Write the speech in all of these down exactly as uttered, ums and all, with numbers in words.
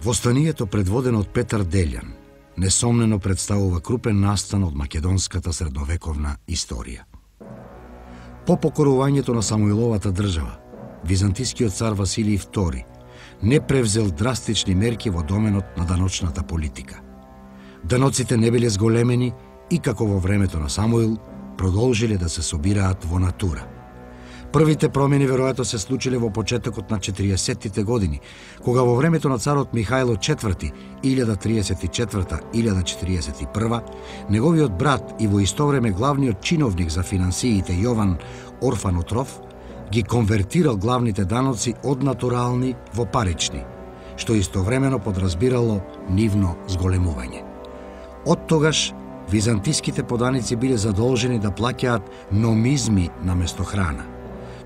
Востанието, предводено од Петар Делјан, несомнено представува крупен настан од македонската средновековна историја. По покорувањето на Самуиловата држава, византискиот цар Василий втори не превзел драстични мерки во доменот на даночната политика. Даноците не биле зголемени и како во времето на Самуил продолжиле да се собираат во натура. Првите промени веројатно се случиле во почетокот на четириесеттите години, кога во времето на царот Михајло четврти, илјада триесет и четврта - илјада четириесет и прва, неговиот брат и во исто време главниот чиновник за финансиите Јован Орфанотров ги конвертирал главните даноци од натурални во парични, што истовремено подразбирало нивно зголемување. Од тогаш византиските поданици биле задолжени да плаќаат номизми наместо храна.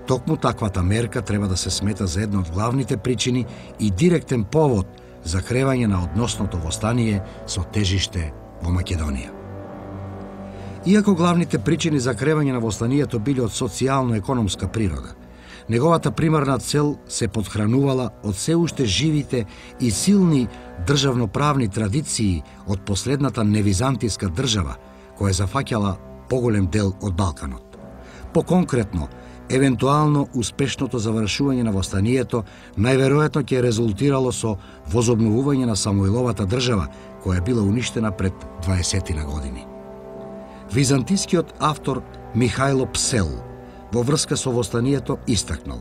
Токму таквата мерка треба да се смета за една од главните причини и директен повод за кревање на односното востание со тежиште во Македонија. Иако главните причини за кревање на востанието биле од социјално-економска природа, неговата примарна цел се подхранувала од се уште живите и силни државноправни традиции од последната невизантиска држава, која зафаќала поголем дел од Балканот. Поконкретно, евентуално успешното завршување на востанието најверојатно ќе резултирало со возобновување на Самуиловата држава, која била уништена пред дваесетина години. Византискиот автор Михајло Псел во врска со востанието истакнал: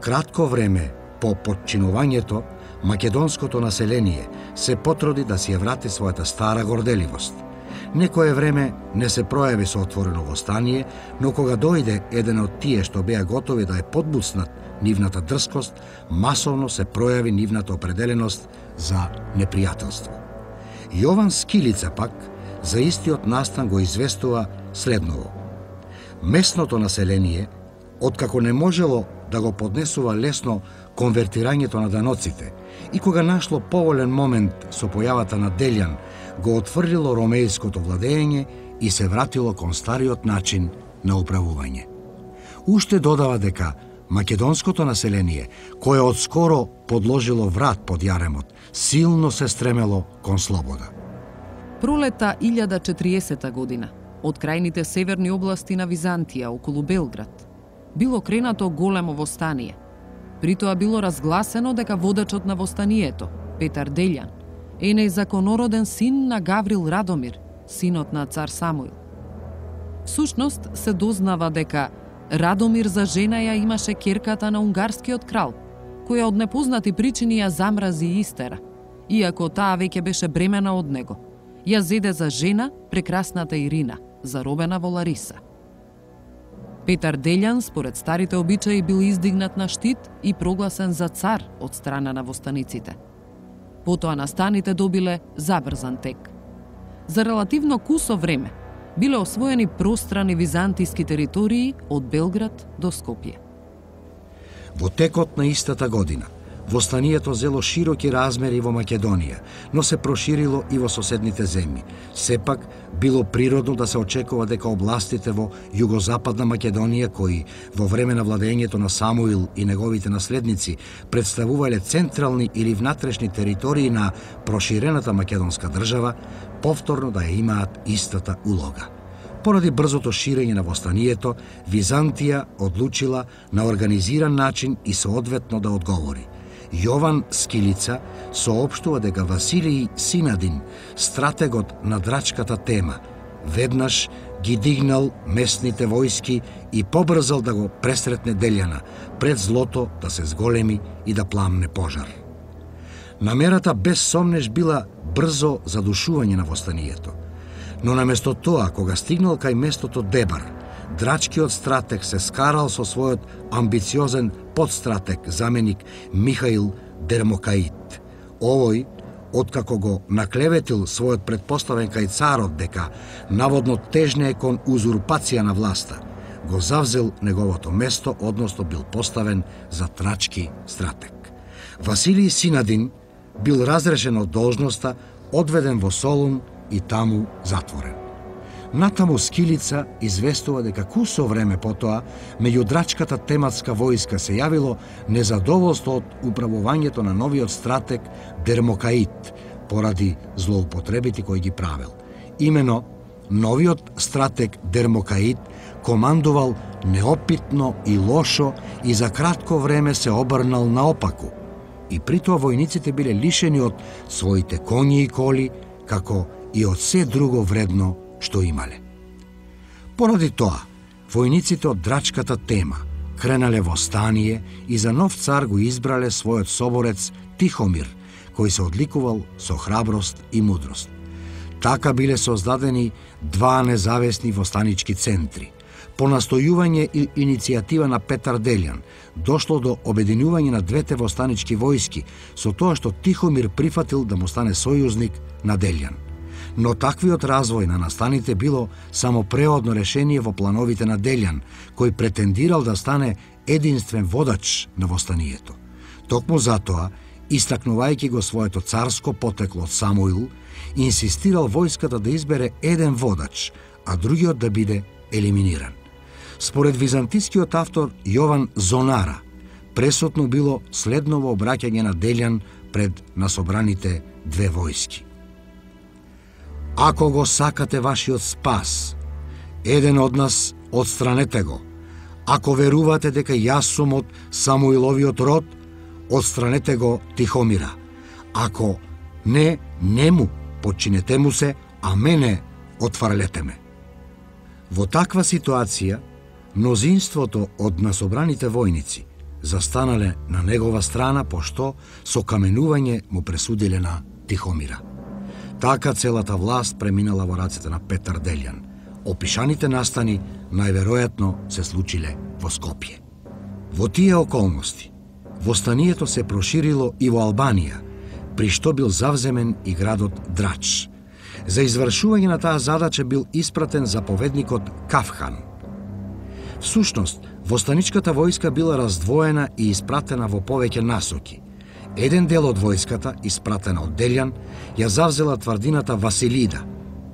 кратко време по подчинувањето, македонското население се потруди да си ја врати својата стара горделивост. Некое време не се пројави со отворено востание, но кога дојде еден од тие што беа готови да ја подбуцнат нивната дрскост, масовно се пројави нивната определеност за непријателство. Јован Скилица пак за истиот настан го известува следново: местното население, откако не можело да го поднесува лесно конвертирањето на даноците и кога нашло поволен момент со појавата на Делјан, го отврлило ромејското владење и се вратило кон стариот начин на управување. Уште додава дека македонското население, кое одскоро подложило врат под јаремот, силно се стремело кон слобода. Пролета илјада четириесета година, од крајните северни области на Византија околу Белград, било кренато големо востание. При тоа било разгласено дека водачот на востанието, Петар Делјан, е незаконороден син на Гаврил Радомир, синот на цар Самуил. Всушност се дознава дека Радомир за жена ја имаше ќерката на унгарскиот крал, која од непознати причини ја замрази и истера, иако таа веќе беше бремена од него. Ја зеде за жена прекрасната Ирина, заробена во Лариса. Петар Делјан, според старите обичаи, бил издигнат на штит и прогласен за цар од страна на востаниците. Потоа настаните добиле забрзан тек. За релативно кусо време биле освоени пространи византиски територии од Белград до Скопје. Во текот на истата година, востанието зело широки размери во Македонија, но се проширило и во соседните земји. Сепак, било природно да се очекува дека областите во југозападна Македонија, кои во време на владењето на Самуил и неговите наследници представувале централни или внатрешни територии на проширената македонска држава, повторно да ја имаат истата улога. Поради брзото ширење на востанието, Византија одлучила на организиран начин и соодветно да одговори. Јован Скилица соопштува дека Василий Синадин, стратегот на драчката тема, веднаш ги дигнал местните војски и побрзал да го пресретне Делјана, пред злото да се зголеми и да пламне пожар. Намерата без сомнеш била брзо задушување на востанието, но наместо тоа, кога стигнал кај местото Дебар, драчкиот стратег се скарал со својот амбициозен подстратег, заменик Михаил Дермокаит. Овој, откако го наклеветил својот предпоставен кај царот дека наводно тежне е кон узурпација на власта, го завзел неговото место, односно бил поставен за трачки стратег. Василий Синадин бил разрешен од должноста, одведен во Солун и таму затворен. Натаму Скилица известува дека кусо време потоа меѓу драчката тематска војска се јавило незадоволство од управувањето на новиот стратег Дермокаид поради злоупотребите кои ги правел. Имено, новиот стратег Дермокаид командувал неопитно и лошо и за кратко време се обрнал наопаку. И притоа војниците биле лишени од своите коњи и коли, како и од се друго вредно што имале. Поради тоа, војниците од драчката тема кренале во стание и за нов цар го избрале својот соборец Тихомир, кој се одликувал со храброст и мудрост. Така биле создадени два независни востанички центри. По настојување и иницијатива на Петар Делјан дошло до обединување на двете востанички војски со тоа што Тихомир прифатил да му стане сојузник на Делјан. Но таквиот развој на настаните било само преодно решение во плановите на Делјан, кој претендирал да стане единствен водач на востанието. Токму затоа, истакнувајќи го своето царско потекло од Самуил, инсистирал војската да избере еден водач, а другиот да биде елиминиран. Според византискиот автор Јован Зонара, пресудно било следново обраќање на Делјан пред насобраните две војски. Ако го сакате вашиот спас, еден од нас одстранете го. Ако верувате дека јас сум од Самуиловиот род, одстранете го Тихомира. Ако не, нему, подчинете му се, а мене отфрлете ме. Во таква ситуација, мнозинството од насобраните војници застанале на негова страна, пошто со каменување му пресудиле на Тихомира. Така целата власт преминала во рацете на Петар Делјан. Опишаните настани најверојатно се случиле во Скопје. Во тие околности, востанието се проширило и во Албанија, при што бил завземен и градот Драч. За извршување на таа задача бил испратен заповедникот Кавхан. Всушност, востаничката војска била раздвоена и испратена во повеќе насоки. Еден дел од војската, испратена од Делјан, ја завзела тврдината Василида.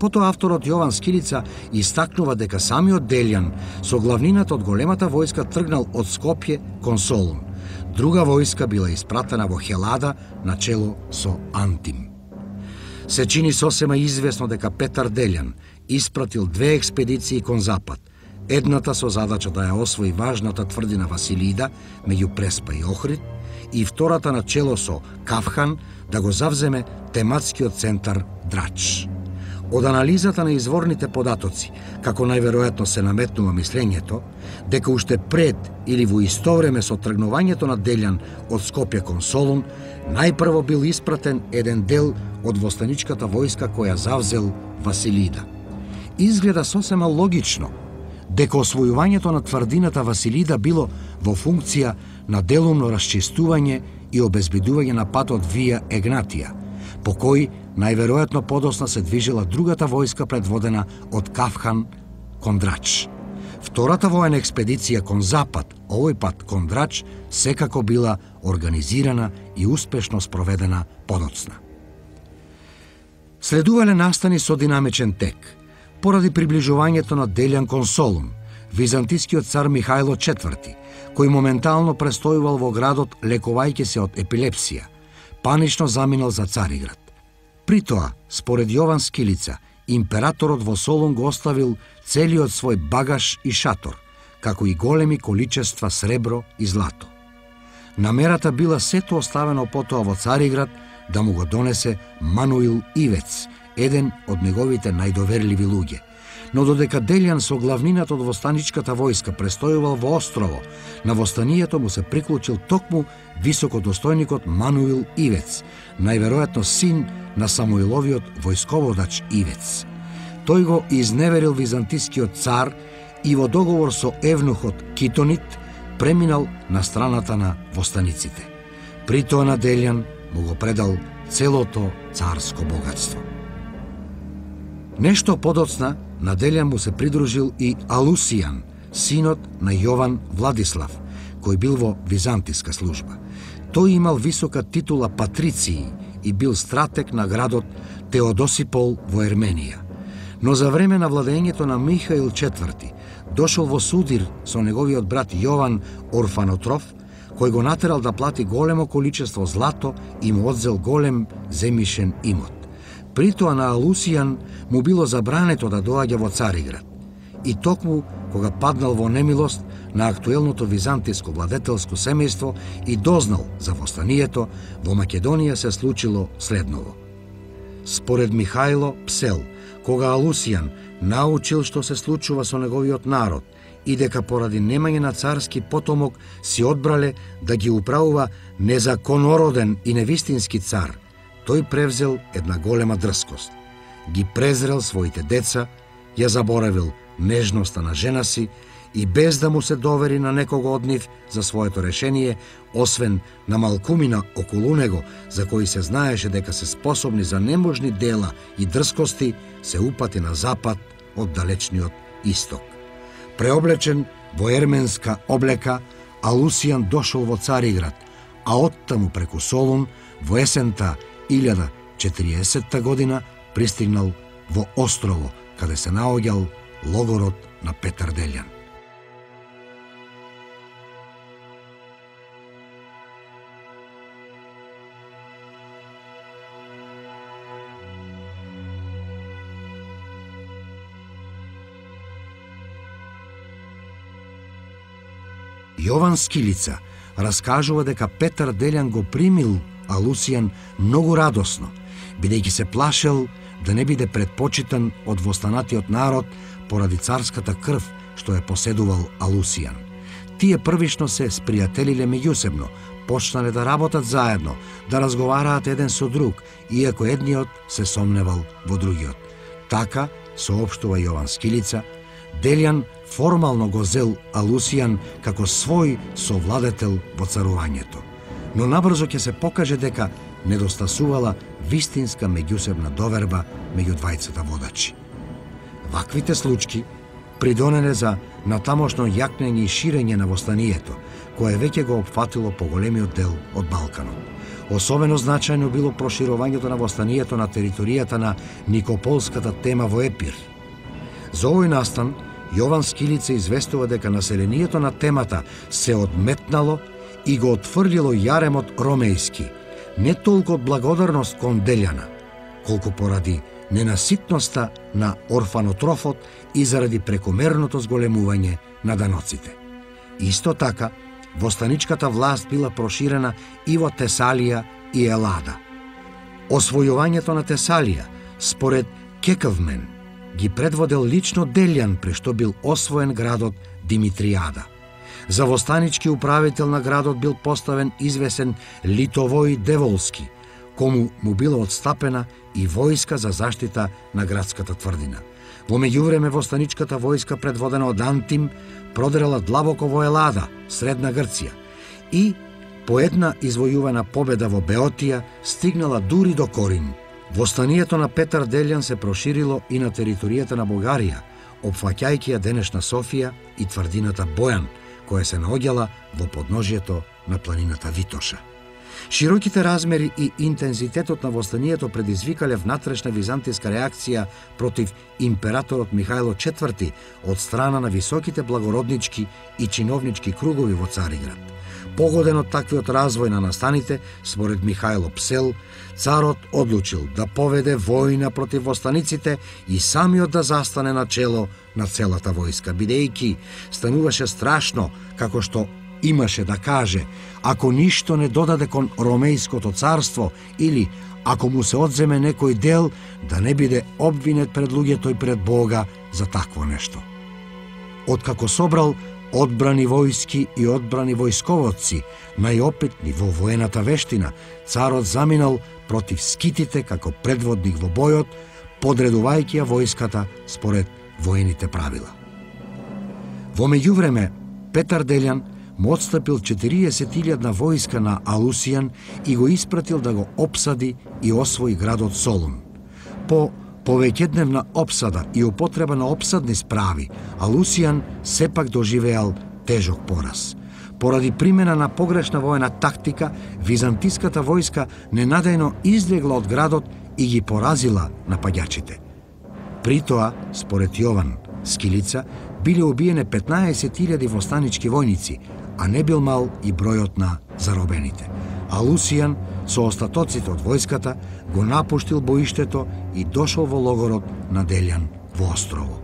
Потоа авторот Јован Скилица истакнува дека самиот Делјан со главнината од големата војска тргнал од Скопје кон Солун. Друга војска била испратена во Хелада на чело со Антим. Се чини сосема известно дека Петар Делјан испратил две експедиции кон запад. Едната со задача да ја освои важната тврдина Василида меѓу Преспа и Охрид, и втората на чело со Кавхан да го завземе тематскиот центар Драч. Од анализата на изворните податоци, како најверојатно се наметнува мислењето, дека уште пред или во исто време со тргнувањето на Делјан од Скопје кон Солун, најпрво бил испратен еден дел од востаничката војска која завзел Василида. Изгледа сосема логично дека освојувањето на тврдината Василида било во функција на делумно расчистување и обезбедување на патот Вија Егнатија, по кој најверојатно подосна се движела другата војска предводена од Кавхан кон Драч. Втората воена експедиција кон запад, овој пат кон Драч, секако била организирана и успешно спроведена подоцна. Следувале настани со динамичен тек. Поради приближувањето на Делјан кон Солун, византискиот цар Михајло четврти, кој моментално престојувал во градот лекувајќи се од епилепсија, панично заминал за Цариград. При тоа, според Јован Скилица, императорот во Солун го оставил целиот свој багаж и шатор, како и големи количества сребро и злато. Намерата била сето оставено потоа во Цариград да му го донесе Мануил Ивец, еден од неговите најдоверливи луѓе. Но додека Делјан со главнината од востаничката војска престојувал во острово, на востанието му се приклучил токму високодостојникот Мануил Ивец, најверојатно син на Самуиловиот војсководач Ивец. Тој го изневерил византискиот цар и во договор со евнухот Китонит преминал на страната на востаниците. При тоа на Делјан му го предал целото царско богатство. Нешто подоцна на Делјан му се придружил и Алусијан, синот на Јован Владислав, кој бил во византиска служба. Тој имал висока титула патрицији и бил стратег на градот Теодосипол во Ерменија. Но за време на владењето на Михаил четврти дошол во судир со неговиот брат Јован Орфанотроф, кој го натерал да плати големо количество злато и му одзел голем земјишен имот. Притоа на Алусијан му било забрането да доаѓа во Цариград. И токму кога паднал во немилост на актуелното византиско владетелско семејство и дознал за востанието, во Македонија се случило следново. Според Михајло Псел, кога Алусијан научил што се случува со неговиот народ и дека поради немање на царски потомок си одбрале да ги управува незаконороден и невистински цар, тој превзел една голема дрскост. Ги презрел своите деца, ја заборавил нежноста на жена си и без да му се довери на некого од нив за своето решение, освен на малкумина околу него, за кои се знаеше дека се способни за неможни дела и дрскости, се упати на запад од далечниот исток. Преоблечен во ерменска облека, Алусијан дошол во Цариград, а оттаму преку Солун во есента илјада четириесетта година пристигнал во Острово, каде се наоѓал логорот на Петар Делјан. Јован Скилица раскажува дека Петар Делјан го примил Алусијан многу радосно, бидејќи се плашел да не биде предпочитан од востанатиот народ поради царската крв што ја поседувал Алусијан. Тие првично се спријателиле меѓусебно, почнале да работат заедно, да разговараат еден со друг, иако едниот се сомневал во другиот. Така, соопштува Јован Скилица, Делјан формално го зел Алусијан како свој совладетел во царувањето. Но набрзо ќе се покаже дека недостасувала вистинска меѓусебна доверба меѓу двајцата водачи. Ваквите случаи придонеле за натамошно јакнење и ширење на востанието, кое веќе го опфатило поголемиот дел од Балканот. Особено значајно било проширувањето на востанието на територијата на Никополската тема во Епир. За овој настан, Јован Скилица известува дека населението на темата се одметнало и го отфрлило јаремот ромејски, не толку од благодарност кон Делјана, колку поради ненаситноста на Орфанотрофот и заради прекомерното зголемување на даноците. Исто така, востаничката власт била проширена и во Тесалија и Елада. Освојувањето на Тесалија, според Кекавмен, ги предводел лично Делјан, прешто бил освоен градот Димитријада. За востанички управител на градот бил поставен извесен Литовој Деволски, кому му била отстапена и војска за заштита на градската тврдина. Во меѓувреме востаничката војска предводена од Антим продрела длабоко во Елада, средна Грција, и по една извојувана победа во Беотија стигнала дури до Корин. Востанието на Петар Делјан се проширило и на територијата на Бугарија, опфаќајќи ја денешна Софија и тврдината Бојан, која се наоѓала во подножието на планината Витоша. Широките размери и интензитетот на востанието предизвикале внатрешна византиска реакција против императорот Михајло четврти од страна на високите благороднички и чиновнички кругови во Цариград. Погоден од таквиот развој на настаните, според Михајло Псел, царот одлучил да поведе војна против востаниците и самиот да застане на чело на целата војска, бидејќи стануваше страшно, како што имаше да каже, ако ништо не додаде кон Ромејското царство или ако му се одземе некој дел, да не биде обвинет пред луѓето и пред Бога за такво нешто. Откако собрал одбрани војски и одбрани војсководци, најопитни во воената вештина, царот заминал против скитите како предводник во бојот, подредувајќи ја војската според воените правила. Во меѓувреме, Петар Делјан му отстапил четириесет илјадна војска на Алусијан и го испратил да го опсади и освои градот Солун. По повеќедневна опсада и употреба на опсадни справи, Алусијан сепак доживеал тежок пораз. Поради примена на погрешна воена тактика, византиската војска ненадејно излегла од градот и ги поразила напаѓачите. При тоа, според Јован Скилица, биле убиене петнаесет илјади востанички војници, а не бил мал и бројот на заробените. А Лусијан со остатоците од војската го напуштил боиштето и дошол во логорот на Делјан во Острово.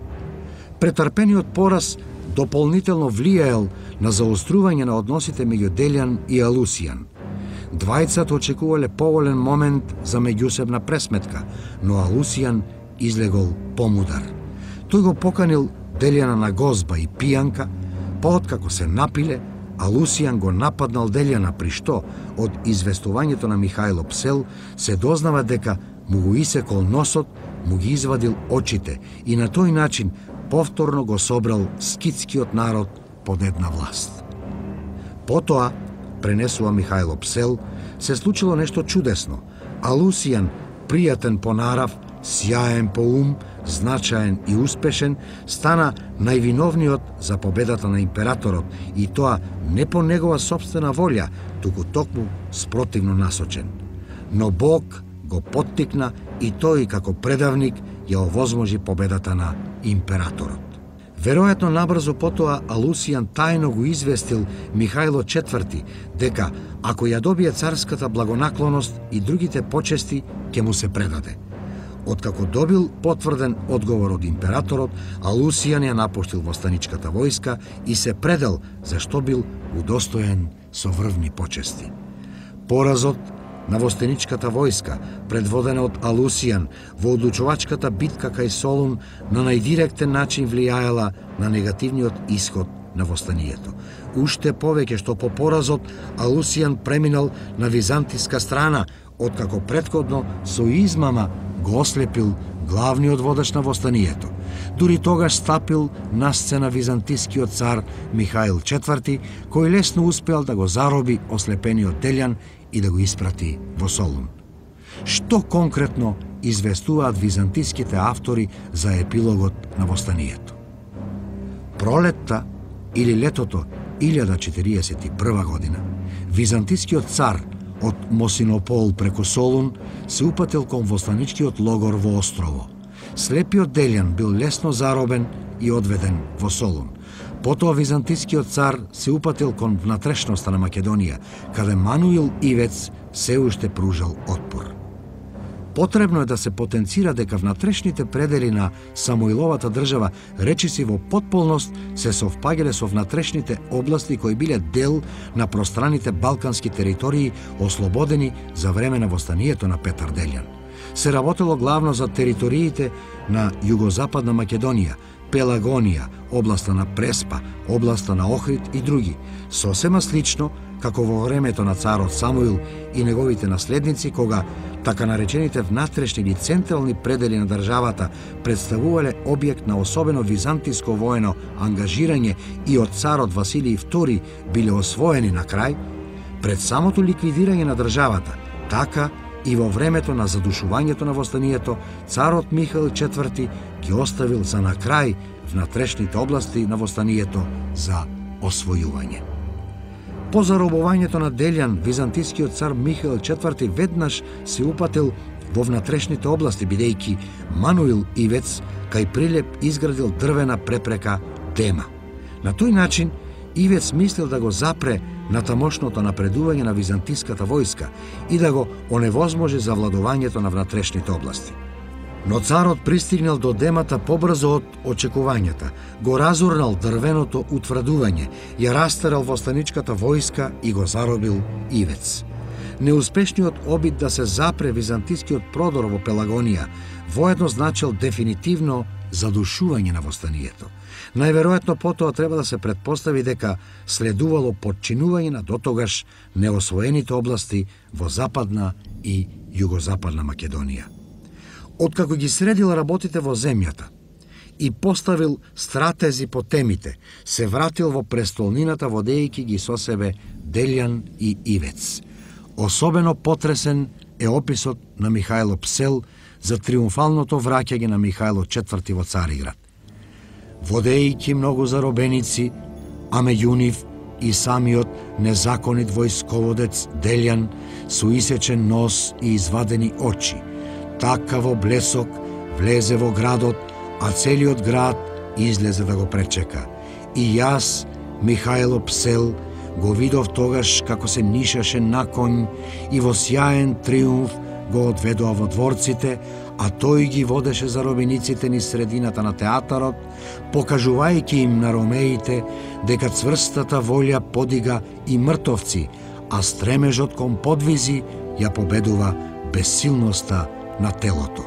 Претрпениот пораз дополнително влијаел на заострување на односите меѓу Делјан и Алусијан. Двајцата очекувале поволен момент за меѓусебна пресметка, но Алусијан излегол помудар. Тој го поканил Делјана на гозба и пијанка, па откако се напиле, Алусијан го нападнал Делјана, при што од известувањето на Михајло Псел се дознава дека му го исекол носот, му ги извадил очите и на тој начин повторно го собрал скитскиот народ под една власт. Потоа, пренесува Михајло Псел, се случило нешто чудесно. Алусијан, пријатен по нарав, сјаен по ум, значаен и успешен, стана највиновниот за победата на императорот, и тоа не по негова собствена волја, туку токму спротивно насочен. Но Бог го поттикна и тој како предавник ја овозможи победата на императорот. Веројатно набрзо потоа Алусијан тајно го известил Михајло четврти дека ако ја добие царската благонаклоност и другите почести, ќе му се предаде. Откако добил потврден одговор од императорот, Алусијан ја напуштил востаничката војска и се предал, зашто бил удостоен со врвни почести. Поразот на востаничката војска, предводена од Алусијан во одлучувачката битка кај Солун, на најдиректен начин влијаела на негативниот исход на востанието. Уште повеќе што по поразот Алусијан преминал на византиска страна, откако претходно со измама го ослепил главниот водач на востанието. Дури тогаш стапил на сцена византискиот цар Михаил четврти, кој лесно успел да го зароби ослепениот Делјан и да го испрати во Солун. Што конкретно известуваат византиските автори за епилогот на востанието? Пролетта или летото илјада четириесет и прва година, византискиот цар од Мосинопол преку Солун се упатил кон востаничкиот логор во Острово. Слепиот Делјан бил лесно заробен и одведен во Солун. Потоа византискиот цар се упатил кон внатрешноста на Македонија, каде Мануил Ивец се уште пружал отпор. Потребно е да се потенцира дека внатрешните предели на Самуиловата држава речиси во потполност се совпаѓале со внатрешните области кои биле дел на пространите балкански територии ослободени за време на востанието на Петар Делјан. Се работело главно за териториите на југозападна Македонија, Пелагонија, областа на Преспа, областа на Охрид и други, сосема слично како во времето на царот Самуил и неговите наследници, кога така наречените внатрешни или централни предели на државата представувале објект на особено византиско воено ангажирање и од царот Василий втори биле освоени на крај, пред самото ликвидирање на државата, така и во времето на задушувањето на востанието, царот Михаил четврти ги оставил за на крај внатрешните области на востанието за освојување. По заробувањето на Делјан, византискиот цар Михаил четврти веднаш се упатил во внатрешните области, бидејќи Мануил Ивец кај Прилеп изградил дрвена препрека Дема. На тој начин Ивец мислил да го запре на тамошното напредување на византиската војска и да го оневозможи завладувањето на внатрешните области. Но царот пристигнал до Демата побрзо од очекувањата, го разурнал дрвеното утврдување, ја растерал востаничката војска и го заробил Ивец. Неуспешниот обид да се запре византискиот продор во Пелагонија воедно значил дефинитивно задушување на востанието. Најверојатно потоа треба да се претпостави дека следувало подчинување на дотогаш неосвоените области во западна и југозападна Македонија. Откако ги средил работите во земјата и поставил стратези по темите, се вратил во престолнината водејќи ги со себе Делјан и Ивец. Особено потресен е описот на Михајло Псел за триумфалното враќање на Михајло четврти во Цариград. Водејќи многу заробеници, а меѓу нив и самиот незаконит војсководец Делјан со исечен нос и извадени очи, така во блесок влезе во градот, а целиот град излезе да го пречека. И јас, Михајло Псел, го видов тогаш како се нишаше на конј и во сјаен триумф го одведоа во дворците, а тој ги водеше заробениците низ средината на театарот, покажувајќи им на ромеите дека цврстата волја подига и мртовци, а стремежот кон подвизи ја победува бесилноста на телото.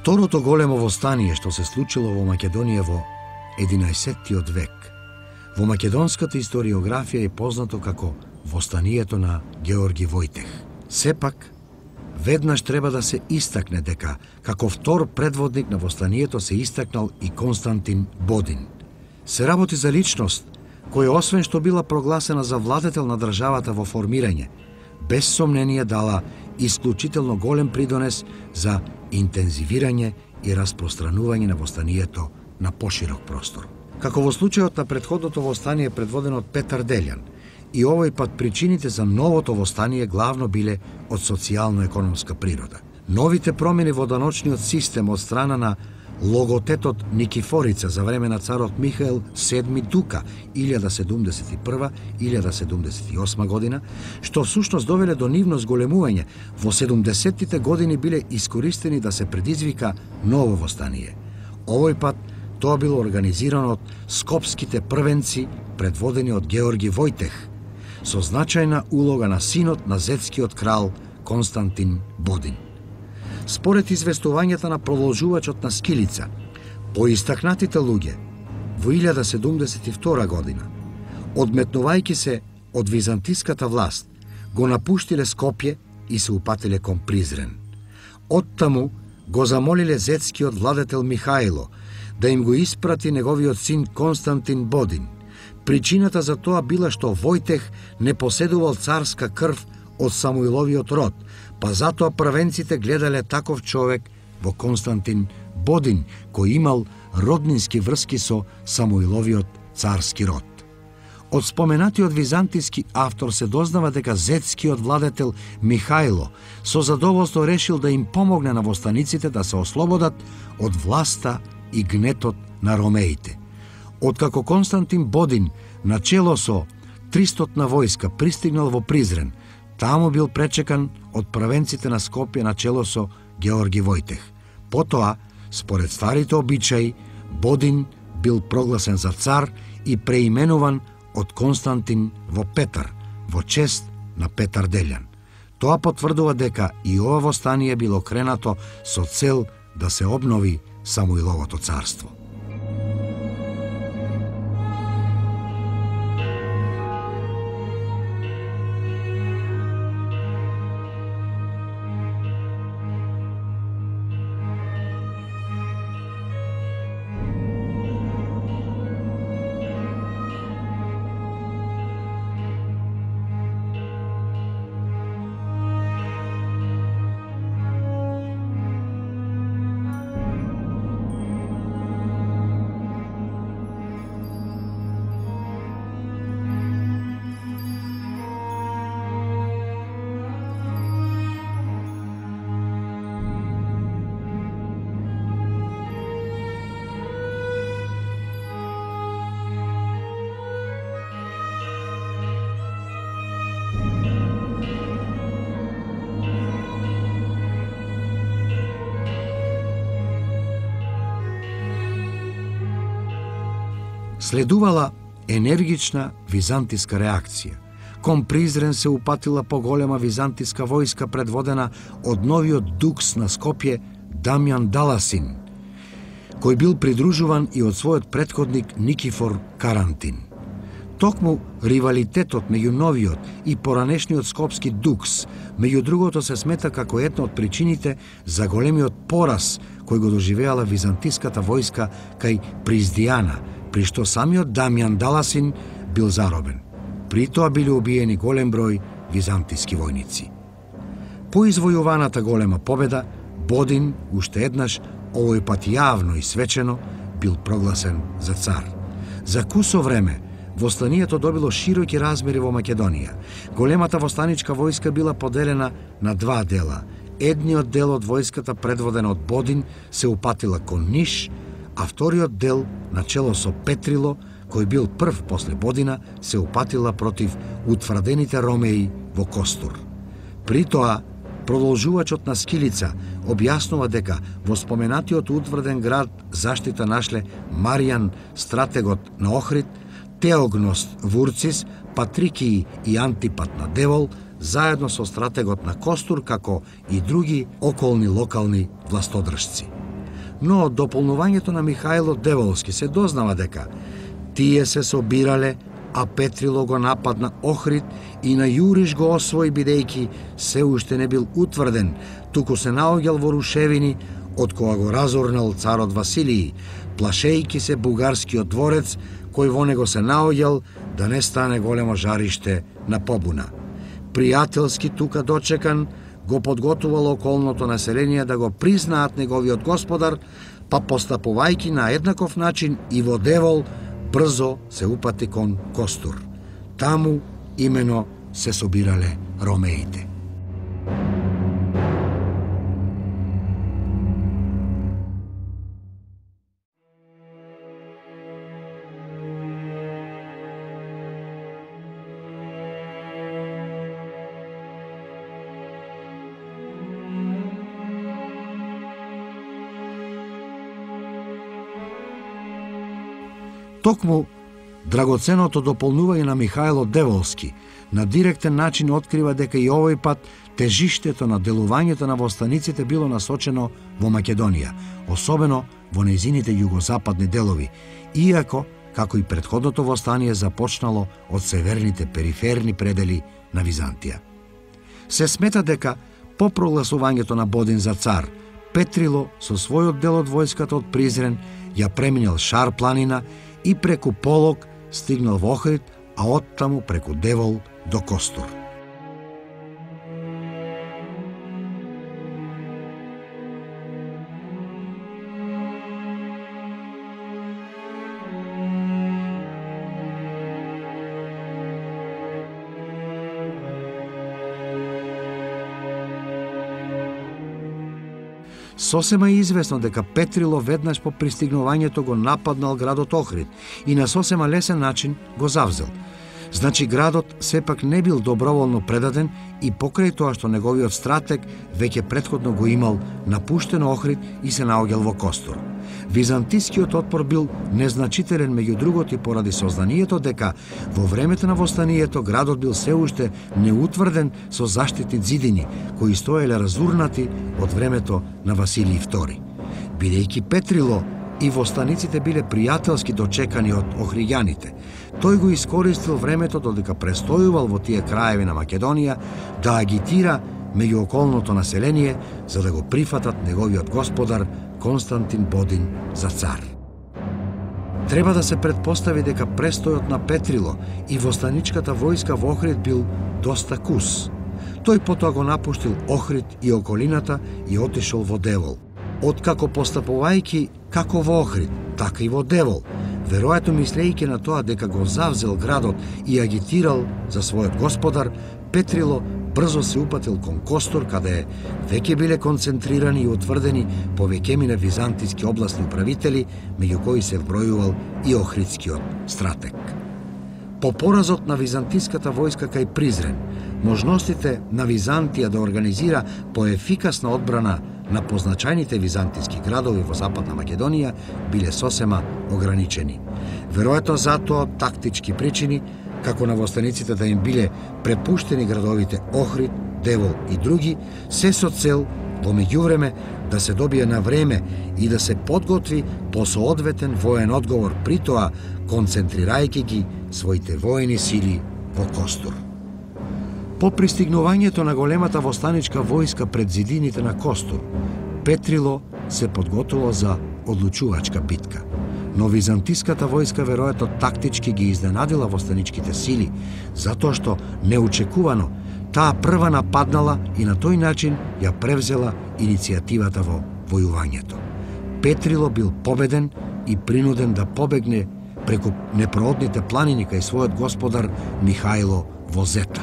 Второто големо востание што се случило во Македонија во единаесеттиот век, во македонската историографија е познато како востанието на Георги Војтех. Сепак, веднаш треба да се истакне дека како втор предводник на востанието се истакнал и Константин Бодин. Се работи за личност која освен што била прогласена за владетел на државата во формирање, без сомнение дала исклучително голем придонес за интензивирање и распространување на востанието на поширок простор. Како во случајот на претходното востание предводено од Петар Делјан, и овој пат причините за новото востание главно биле од социјално-економска природа. Новите промени во даночниот систем од страна на логотетот Никифорица за време на царот Михаел седми Дука илјада седумдесет и прва - илјада седумдесет и осма година, што всушност довеле до нивно зголемување, во седумдесеттите години биле искористени да се предизвика ново востание. Овој пат тоа било организирано од скопските првенци предводени од Георги Војтех, со значајна улога на синот на зетскиот крал Константин Бодин. Според известувањата на продолжувачот на Скилица, поистакнатите луѓе во илјада седумдесет и втора година, одметнувајќи се од византиската власт, го напуштиле Скопје и се упатиле кон Призрен. Оттаму го замолиле зетскиот владетел Михајло да им го испрати неговиот син Константин Бодин. Причината за тоа била што Војтех не поседувал царска крв од Самуиловиот род, па затоа првенците гледале таков човек во Константин Бодин, кој имал роднински врски со Самуиловиот царски род. Од споменатиот византиски автор се дознава дека зетскиот владетел Михајло со задоволство решил да им помогне на востаниците да се ослободат од власта и гнетот на ромеите. Откако Константин Бодин начело со тристотна војска пристигнал во Призрен, таму бил пречекан од првенците на Скопје начело со Георги Војтех. Потоа, според старите обичаи, Бодин бил прогласен за цар и преименуван од Константин во Петар, во чест на Петар Делјан. Тоа потврдува дека и ова востание било кренато со цел да се обнови Самуиловото царство. Следувала енергична византиска реакција. Кон Призрен се упатила поголема византиска војска предводена од новиот дукс на Скопје Дамјан Даласин, кој бил придружуван и од својот претходник Никифор Карантин. Токму ривалитетот меѓу новиот и поранешниот скопски дукс, меѓу другото се смета како една од причините за големиот пораз кој го доживеала византиската војска кај Приздијана, при што самиот Дамјан Даласин бил заробен. При тоа биле убиени голем број византиски војници. По извојуваната голема победа, Бодин уште еднаш, овој пат јавно и свечено, бил прогласен за цар. За кусо време востанието добило широки размери во Македонија. Големата востаничка војска била поделена на два дела. Едниот дел од војската, предводена од Бодин, се упатила кон Ниш, а вториот дел, начело со Петрило, кој бил прв после Бодина, се упатила против утврдените ромеи во Костур. При тоа, продолжувачот на Скилица објаснува дека во споменатиот утврден град заштита нашле Маријан, стратегот на Охрид, Теогност Вурцис, Патрикии и Антипат на Девол, заедно со стратегот на Костур, како и други околни локални властодржци. Но од дополнувањето на Михајло Деволски се дознава дека тие се собирале, а Петрило го нападна Охрид и на Јуриш го освои, бидејќи се уште не бил утврден, туку се наоѓал во рушевини од кога го разорнал царот Василиј, плашејќи се бугарскиот дворец, кој во него се наоѓал да не стане големо жариште на побуна. Пријателски тука дочекан, го подготувало околното население да го признаат неговиот господар, па постапувајќи на еднаков начин и во Девол, брзо се упати кон Костур. Таму имено се собирале ромеите. Токму драгоценото дополнување на Михајло Деволски на директен начин открива дека и овој пат тежиштето на делувањето на востаниците било насочено во Македонија, особено во нејзините југозападни делови, иако, како и претходното востание, започнало од северните периферни предели на Византија. Се смета дека по прогласувањето на Бодин за цар, Петрило со својот дел од војската од Призрен ја преминал Шар планина и преку Полог стигнал во Охрид, а оттаму преку Девол до Костур. Сосема е известно дека Петрило веднаш по пристигнувањето го нападнал градот Охрид и на сосема лесен начин го завзел. Значи градот сепак не бил доброволно предаден и покрај тоа што неговиот стратег веќе претходно го имал напуштено Охрид и се наоѓал во Костур. Византискиот отпор бил незначителен, меѓу другото и поради сознанието дека во времето на востанието градот бил се уште неутврден со заштитни зидини кои стоеле разурнати од времето на Василиј втори. Бидејќи Петрило и востаниците биле пријателски дочекани од охриѓаните, тој го искористил времето додека престојувал во тие краеви на Македонија да агитира меѓу околното население за да го прифатат неговиот господар Константин Бодин за цар. Треба да се претпостави дека престојот на Петрило и востаничката војска во Охрид бил доста кус. Тој потоа го напуштил Охрид и околината и отишол во Девол. Откако постапувајќи како во Охрид, така и во Девол, веројатно мислејќи на тоа дека го завзел градот и агитирал за својот господар, Петрило брзо се упатил кон Костур, каде веќе биле концентрирани и утврдени повеќемина византиски областни управители, меѓу кои се вбројувал и охридскиот стратег. По поразот на византиската војска кај Призрен, можностите на Византија да организира поефикасна одбрана на позначајните византиски градови во Западна Македонија биле сосема ограничени. веројатно затоа тактички причини, како на востаниците да им биле препуштени градовите Охрид, Девол и други, се со цел во меѓувреме да се добие на време и да се подготви по соодветен воен одговор, при тоа концентрирајќи ги своите воени сили во Костур. По пристигнувањето на големата востаничка војска пред зидините на Костур, Петрило се подготвило за одлучувачка битка, но византиската војска веројатно тактички ги изненадила востаничките сили, затоа што неочекувано таа прва нападнала и на тој начин ја превзела иницијативата во војувањето. Петрило бил победен и принуден да побегне преку непроодните планини кај својот господар Михајло во Зета.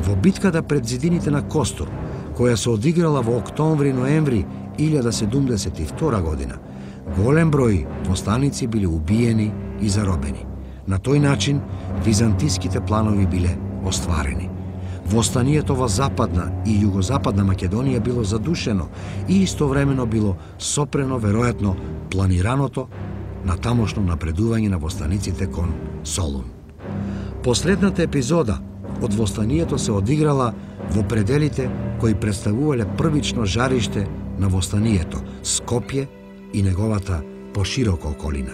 Во битката пред зидините на Костур, која се одиграла во октомври-ноември илјада седумдесет и втора година, голем број востаници биле убиени и заробени. На тој начин византиските планови биле остварени. Востанието во Западна и Југозападна Македонија било задушено и истовремено било сопрено веројатно планираното на тамошно напредување на востаниците кон Солун. Последната епизода од востанието се одиграла во пределите кои представувале првично жариште на востанието, Скопје и неговата поширока околина.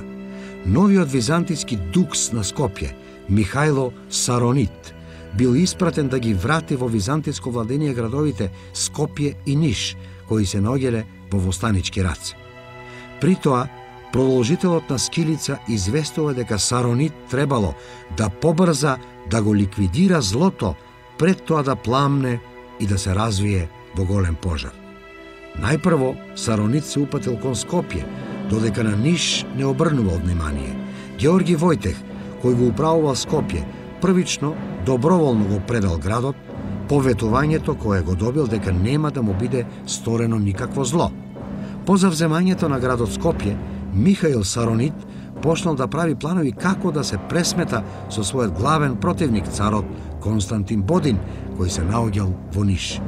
Новиот византиски дукс на Скопје, Михајло Саронит, бил испратен да ги врати во византиско владение градовите Скопје и Ниш, кои се наоѓале во востанички раце. При тоа, продолжителот на Скилица известува дека Саронит требало да побрза да го ликвидира злото пред тоа да пламне и да се развие во голем пожар. Најпрво Саронит се упатил кон Скопје, додека на Ниш не обрнувал внимание. Георги Војтех, кој го управувал Скопје, првично доброволно го предал градот, по ветувањето кое го добил дека нема да му биде сторено никакво зло. По завземањето на градот Скопје, Михаил Саронит почнал да прави планови како да се пресмета со својот главен противник, царот Константин Бодин, кој се наоѓал во Ниш.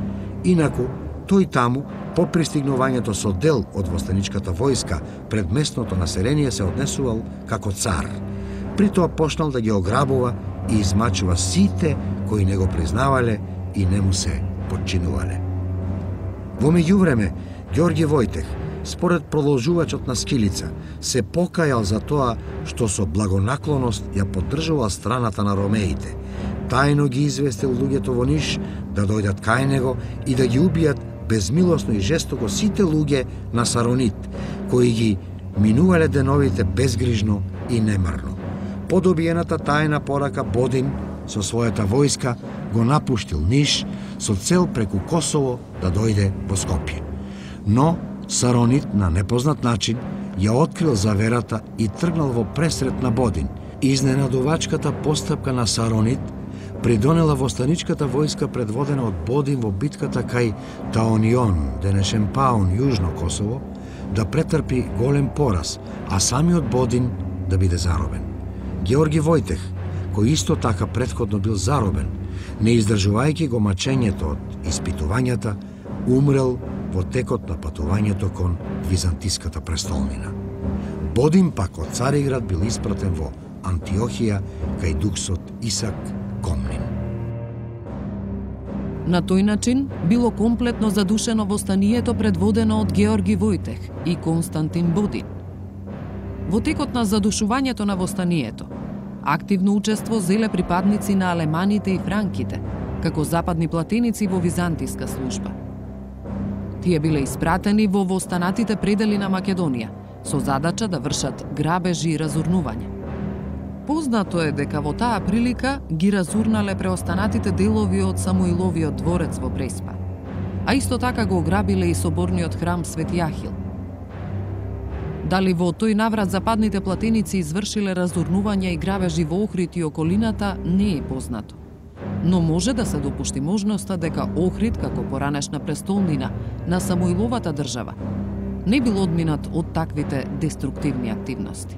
Инаку, тој таму, по пристигнувањето со дел од востаничката војска пред местното население се однесувал како цар. При тоа почнал да ги ограбува и измачува сите кои не го признавале и не му се подчинувале. Во меѓувреме, Ѓорѓе Војтех, според продолжувачот на Скилица, се покајал за тоа што со благонаклоност ја поддржувал страната на ромеите. Тајно ги известил луѓето во Ниш да дојдат кај него и да ги убијат безмилосно и жестоко сите луѓе на Саронит, кои ги минувале деновите безгрижно и немарно. По добиената тајна порака Бодин со својата војска го напуштил Ниш со цел преку Косово да дојде во Скопје. Но Саронит на непознат начин ја открил заверата и тргнал во пресрет на Бодин. Изненадувачката постапка на Саронит придонела востаничката војска предводена од Бодин во битката кај Таонион, денешен Паун, Јужно Косово, да претрпи голем пораз, а самиот Бодин да биде заробен. Георги Војтех, кој исто така претходно бил заробен, не издржувајќи го мачењето од испитувањата, умрел во текот на патувањето кон византиската престолнина. Бодин пак од Цариград бил испратен во Антиохија кај дуксот Исак Комнин. На тој начин било комплетно задушено востанието предводено од Георги Војтех и Константин Бодин. Во текот на задушувањето на востанието, активно учество зеле припадници на алеманите и франките, како западни платеници во византиска служба. Тие биле испратени во востанатите предели на Македонија, со задача да вршат грабежи и разурнување. Познато е дека во таа прилика ги разурнале преостанатите делови од Самуиловиот дворец во Преспа, а исто така го ограбиле и соборниот храм Свети Ахил. Дали во тој наврат западните платеници извршиле разурнување и грабежи во Охрид и околината не е познато. Но може да се допушти можноста дека Охрид, како поранешна престолнина на Самуиловата држава, не бил одминат од таквите деструктивни активности.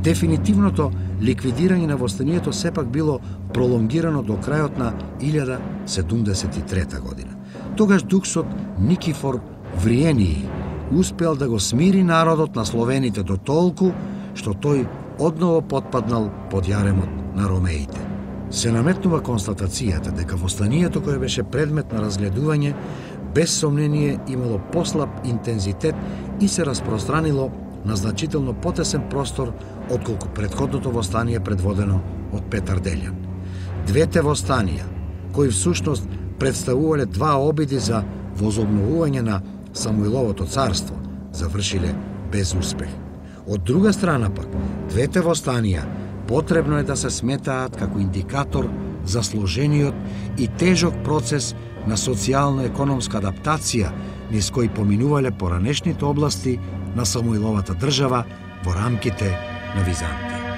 Дефинитивното ликвидирање на востанието сепак било пролонгирано до крајот на илјада седумдесет и трета година. Тогаш дуксот Никифор Вриении успел да го смири народот на словените до толку што тој одново потпаднал под јаремот на ромеите. Се наметнува констатацијата дека востанието кое беше предмет на разгледување без сомнение имало послаб интензитет и се распространило на значително потесен простор отколку претходното востание предводено од Петар Делјан. Двете востанија, кои всушност представувале два обиди за возобновување на Самуиловото царство, завршиле без успех. Од друга страна пак, двете востанија потребно е да се сметаат како индикатор за сложениот и тежок процес на социјално-економска адаптација низ кои поминувале поранешните области на Самуиловата држава во рамките на Византија.